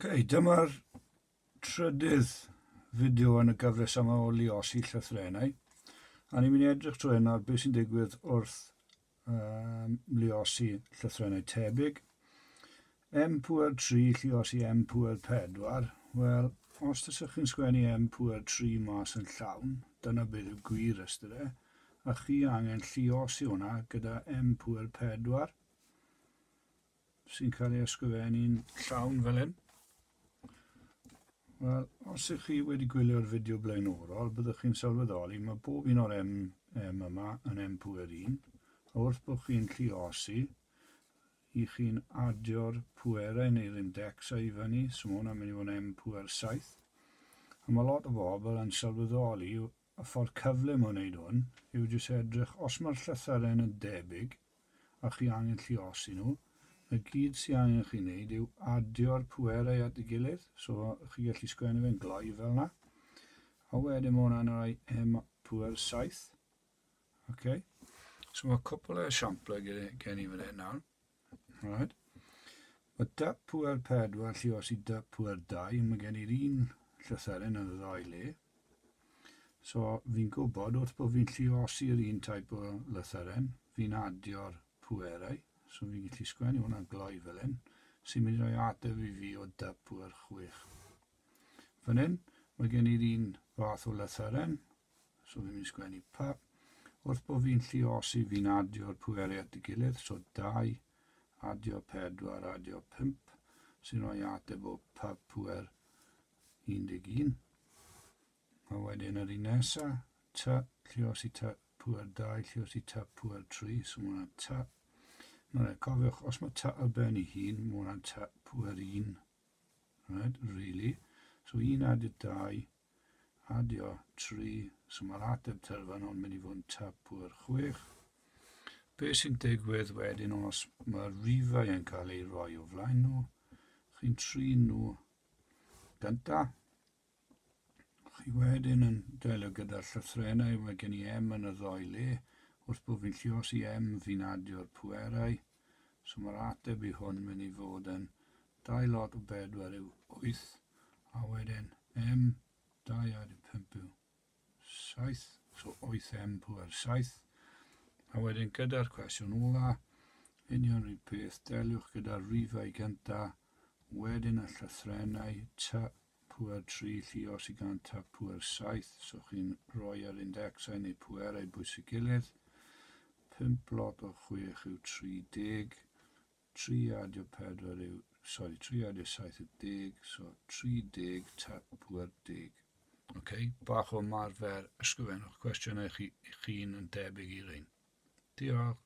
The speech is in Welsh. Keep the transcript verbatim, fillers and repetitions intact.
Ok, dyma'r trydydd fideo yn y gyfres yma o luosi llythrennau. A ni'n mynd i edrych trwy hyn ar beth sy'n digwydd wrth um, luosi llythrennau tebyg. M pŵer tri lluosi M pŵer pedwar. Wel, os tasech chi'n sgwennu M pŵer tri mas yn llawn, dyna beth yw gwir ystyr e, a chi angen lluosi hwnna gyda M pŵer pedwar, sy'n cael ei ysgrifennu'n llawn fel hyn. Wel, os ych chi wedi gwylio'r fideo blaenorol, byddwch chi'n sylweddoli mae bob un o'r M, M yma yn M pŵer un, a wrth bod chi'n lluosi, i chi'n adio'r pwerau neu'r indecsau i fyny, so mae hwnna'n mynd i fod yn M pŵer saith. A mae lot o bobl yn sylweddoli y ffordd cyflym o wneud hwn yw jyst edrych, os mae'r llythyren yn debyg a chi angen lluosi nhw, y gyd sy'n angen chi wneud yw adio'r pwerau at ei gilydd, so chi gallu sgwennu fe'n gloi fel yna. A wedyn mae hwnna'n rhoi M pŵer saith. Okay. So mae cwpl o esiamplau gen i fan hyn nawr. Right. Mae D pŵer pedwar lluosi D pŵer dau, mae gen i'r un llythyren yn y ddau le. So fi'n gwybod wrth bod fi'n lluosi'r un type o lythyren, fi'n adio'r pwerau. So fi'n gallu sgwennu hwnna'n gloi fel hyn, sy'n mynd i roi ateb i fi o D pŵer chwech. Fan hyn, mae gen i'r un fath o lythyren, so fi'n mynd i sgwennu P. Wrth bod fi'n lluosi, fi'n adio'r pwerau at ei gilydd, so dau, adio pedwar, adio pump, sy'n rhoi ateb o P pŵer un deg un. A wedyn yr un nesa, T, lluosi T pŵer dau, lluosi T pŵer tri, so mae hwnna'n T. Nawr, cofiwch, os mae T ar ben ei hun, mae hwnna'n T pŵer un, right, really. So un adio dau, adio tri, so mae'r ateb terfynol yn mynd i fod yn T pŵer chwech. Be sy'n digwydd wedyn os mae'r rifau yn cael ei roi o flaen nhw, chi'n trin nhw gynta. Chi wedyn yn delio gyda'r llythrennau, mae gen i M yn y ddau le. Wrth bod fi'n lluosi M, fi'n adio'r pwerau. So mae'r ateb i hwn mynd i fod yn dau lot o bedwar yw wyth, a wedyn M, dau adio pump yw saith, so wyth M pŵer saith. A wedyn gyda'r cwestiwn ola, union rhyw peth, deliwch gyda'r rifau gynta, wedyn y llythrennau T pŵer tri lluosi gan T pŵer saith, so chi'n rhoi yr indecsau neu pwerau bwys ei gilydd. pump lot o chwech yw tri deg, tri adio pedwar yw, sorry, tri adio saith yw deg, so tri deg T pŵer deg. Ok, bach o ymarfer, ysgrifennwch cwestiynau chi, chi'n yn debyg i'r un. Diolch.